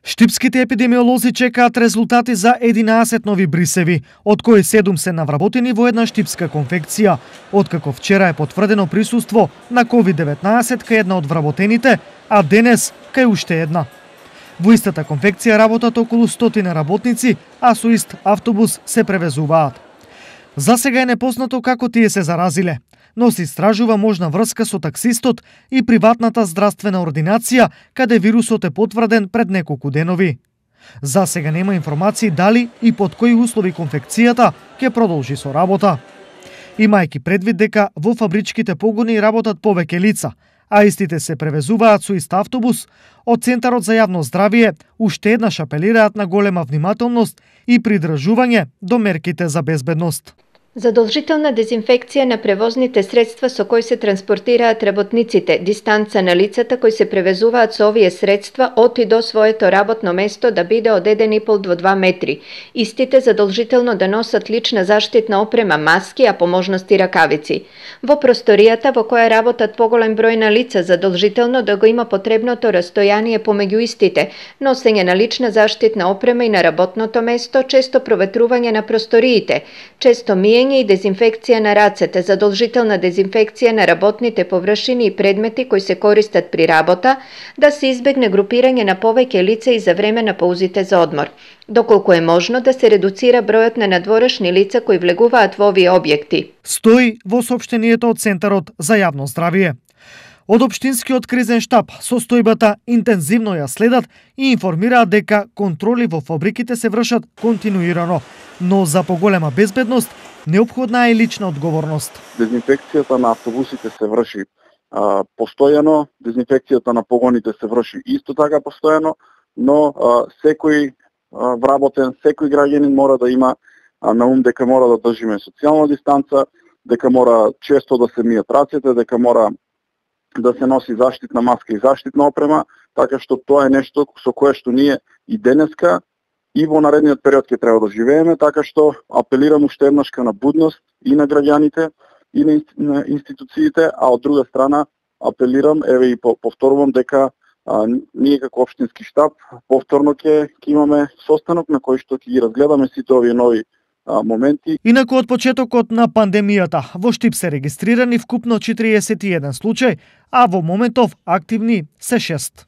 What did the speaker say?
Штипските епидемиолози чекаат резултати за 11 нови брисеви, од кои 7 се навработени во една штипска конфекција, откако вчера е потврдено присуство на COVID-19 кај една од вработените, а денес кај уште една. Во истата конфекција работат околу 100 работници, а со ист автобус се превезуваат. За сега е непознато како тие се заразиле, но се истражува можна врска со таксистот и приватната здравствена ординација, каде вирусот е потврден пред неколку денови. За сега нема информации дали и под кои услови конфекцијата ќе продолжи со работа. Имајќи предвид дека во фабричките погони работат повеќе лица, а истите се превезуваат со ист автобус, од Центарот за јавно здравје уште еднаш апелираат на голема внимателност и придржување до мерките за безбедност. Задолжителна дезинфекција на превозните средства со кои се транспортираат работниците, дистанца на лицата кои се превезуваат со овие средства од и до своето работно место да биде од 1,5 до 2 метри. Истите задолжително да носат лична заштитна опрема, маски, а по можности ракавици. Во просторијата во која работат поголем број на лица, задолжително да го има потребното растојание помеѓу истите, носење на лична заштитна опрема и на работното место, често проветрување на просториите, често миење и дезинфекција на рацете, задолжителна дезинфекција на работните површини и предмети кои се користат при работа, да се избегне групирање на повеќе лица и за време на паузите за одмор. Доколку е можно да се редуцира бројот на надворешни лица кои влегуваат во овие објекти. Стои во соопштението од Центарот за јавно здравје. Од Општинскиот кризен штаб состојбата интензивно ја следат и информираат дека контроли во фабриките се вршат континуирано, но за поголема безбедност неопходна е лична одговорност. Дезинфекцијата на автобусите се врши постојано, дезинфекцијата на погоните се врши исто така постојано, но секој вработен, секој граѓанин мора да има на ум дека мора да држиме социјална дистанца, дека мора често да се мијат рацете, дека мора да се носи заштитна маска и заштитна опрема, така што тоа е нешто со кое што ние и денеска и во наредниот период ќе треба да живееме, така што апелирам уште еднаш на будност и на граѓаните и на институциите, а од друга страна апелирам, еве и повторувам дека ние како општински штаб повторно ќе имаме состанок на кој што ќе ги разгледаме сите овие нови моменти. Инаку од почетокот на пандемијата во Штип се регистрирани вкупно 41 случај, а во моментов активни се 6.